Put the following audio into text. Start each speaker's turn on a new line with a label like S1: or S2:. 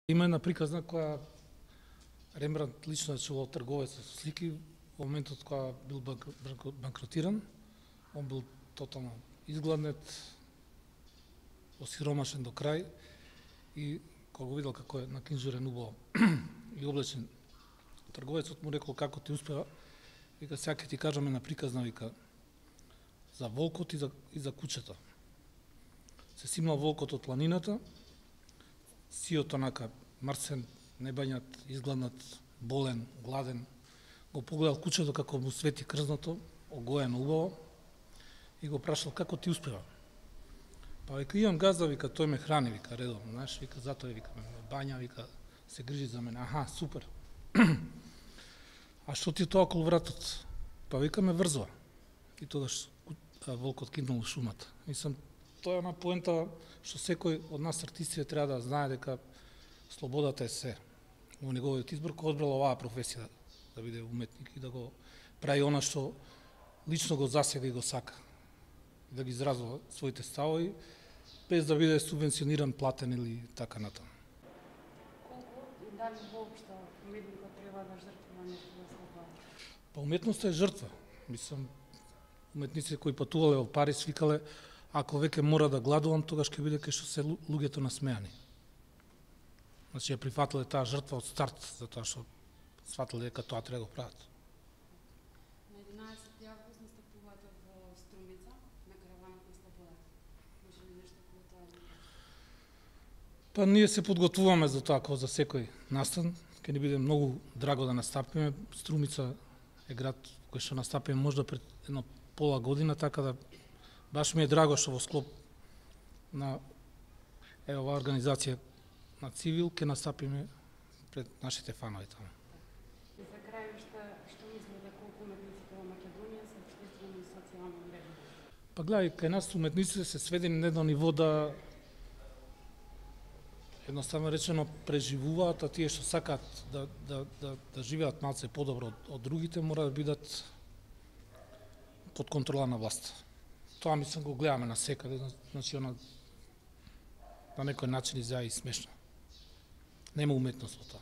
S1: Има една приказна која Рембрандт лично е чувал трговец со слики во моментот кога бил банкротиран. Он бил тотално изгладнет, осиромашен до крај и кога го видел како е накинжурен убаво и облечен, трговецот му рекол како ти успева, вика сега ќе ти кажам една приказна, вика, за волкот и за кучето. Се симнал волкот од планината, сиот онака мрсен, небањат, изгладнат, болен, гладен, го погледал кучето како му свети крзното, огоено убаво и го прашал како ти успева. Па вика имам газда, вика тој ме храни, вика редовно, знаеш, вика затоа вика ме бања, вика се грижи за мене. Аха, супер. А што ти е тоа околу вратот? Па вика ме врзува. И тогаш волкот кинул во шумата. Мислам, тоа е една поента што секој од нас артисти треба да знае дека слободата е се. Во неговиот избор кој одбрал оваа професија да биде уметник и да го прави она што лично го засега и го сака. Да ги изразува своите ставови без да биде субвенциониран, платен или така натаму.
S2: Колку и дали воопшто уметникот треба да жртвува нешто за слобода?
S1: Па уметноста е жртва. Мислам, уметници кои патувале во Париз викале ако веќе мора да гладувам, тогаш ќе биде кај што се луѓето насмеани. Значи ја прифатиле таа жртва од старт, затоа што сватиле дека тоа треба да го прават.
S2: На 11 август настапувате во Струмица на Караванот на слободата. Може ли нешто околу тоа да кажете?
S1: Па ние се подготвуваме за тоа како за секој настан. Ќе ни биде многу драго да настапиме. Струмица е град кој што настапиме можда пред едно пола година, така да баш ми е драго што во склоп на оваа организација на Цивил ќе настапиме пред нашите фанови таму.
S2: И за крај што мислите колку уметниците во Македонија се општествено и социјално вредни?
S1: Па гледај, кај нас уметниците се сведени на едно ниво да едноставно речено преживуваат, а тие што сакаат да живеат малце подобро од другите мора да бидат под контрола на власт. Тоа мислам го гледаме на секаде, значи на некој начин изгледа и смешно. Нема уметност во тоа.